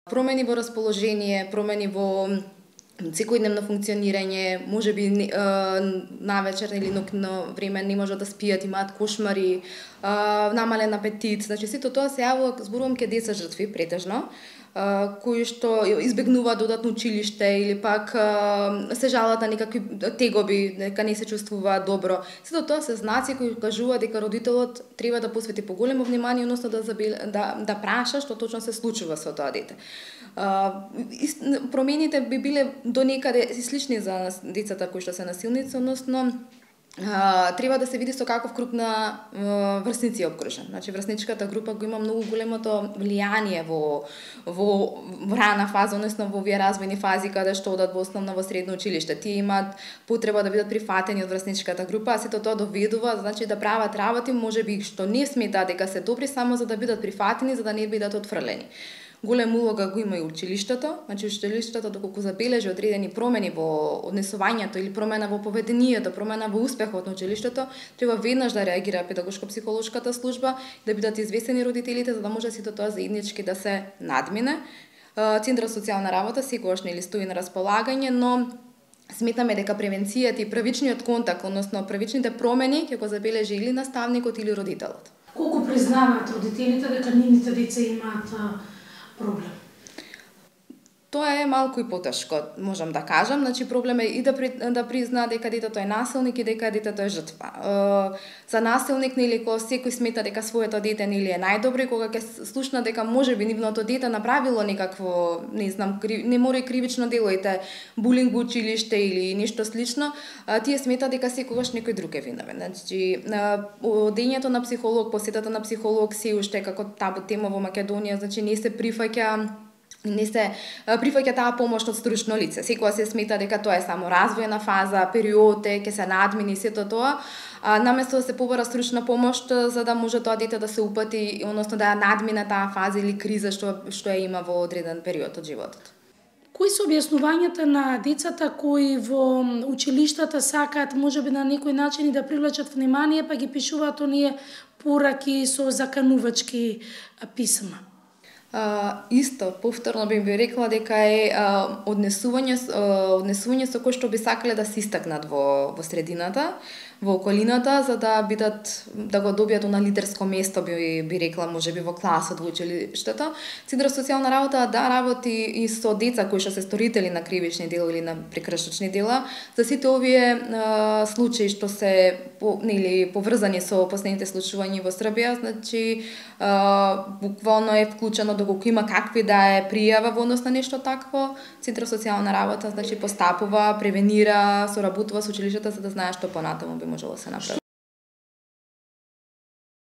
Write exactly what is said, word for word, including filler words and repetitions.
Промени во расположение, промени во секојдневно функционирање, можеби навечер или ноќно време не можат да спијат, имаат кошмари, намален апетит. Значи сето тоа се јавува, зборувам ке деца жртви претежно, кои што избегнуваат додатно училиште или пак се жалат на некакви тегоби, дека не се чувствуваат добро. Сето тоа се знаци кои кажуваат дека родителот треба да посвети поголемо внимание, односно да да да праша што точно се случува со тоа дете. Промените би биле до некаде слични за децата кои што се насилници, односно Uh, треба да се види со каков круг на uh, врсници е обкружен. Значи врсничката група го има многу големото влијание во во рана фаза, односно во овие развојни фази каде што одат во основно во средно училиште. Тие имаат потреба да бидат прифатени од врсничката група, а сето тоа доведува, значи да прават работи можеби што не сметаат дека се добри само за да бидат прифатени, за да не бидат отфрлени. Голема улога го има и училиштето, значи училиштето доколку забележи одредени промени во однесувањето или промена во поведението, промена во успехот на училиштето, треба веднаш да реагира педагошко-психолошката служба, да бидат известени родителите за да може сето тоа заеднички да се надмине. Центарот за социјална работа секогаш нели стои на располагање, но сметаме дека превенцијата и првичниот контакт, односно првичните промени ќе го забележи или наставникот или родителот. Колку признаваат родителите дека нивните деца имаат проблем? Тоа е малку и потешко, можам да кажам. Значи проблем е и да при, да призна дека детето е насилник и дека детето е жртва. Е, за насилник нели кога секој смета дека своето дете нели е најдобро, кога ќе слушна дека можеби нивното дете направило некакво, не знам, кри, не мора и кривично дело, ете булинг во училиште или нешто слично, е, тие смета дека секогаш некој друг е виновен. Значи одењето на психолог, посетата на психолог се уште како табу тема во Македонија, значи не се прифаќа не се прифаќа таа помош од стручно лице. Секогаш се смета дека тоа е само развојна фаза, период е, ќе се надмини сето тоа, а наместо да се побара стручна помош за да може тоа дете да се упати, односно да ја надмине таа фаза или криза што што ја има во одреден период од животот. Кои се објаснувањата на децата кои во училиштата сакаат можеби на некој начин да привлечат внимание, па ги пишуваат оние пораки со заканувачки писма? Uh, исто, повторно би би рекла дека е uh, однесување, uh, однесување со кој што би сакале да се истакнат во, во средината, во околината, за да бидат, да го добијат на лидерско место, би, би рекла, можеби во класот, во училиштето. Центарот за социјална работа да работи и со деца кои што се сторители на кривични дела или на прекршочни дела. За сите овие uh, случаи што се по, нели поврзани со последните случувања во Србија, значи uh, буквално е вклучено доколку има какви да е пријава во однос на нешто такво, Центарот за социјална работа значи постапува, превенира, соработува со училиштата за да знае што понатаму би можело да се направи.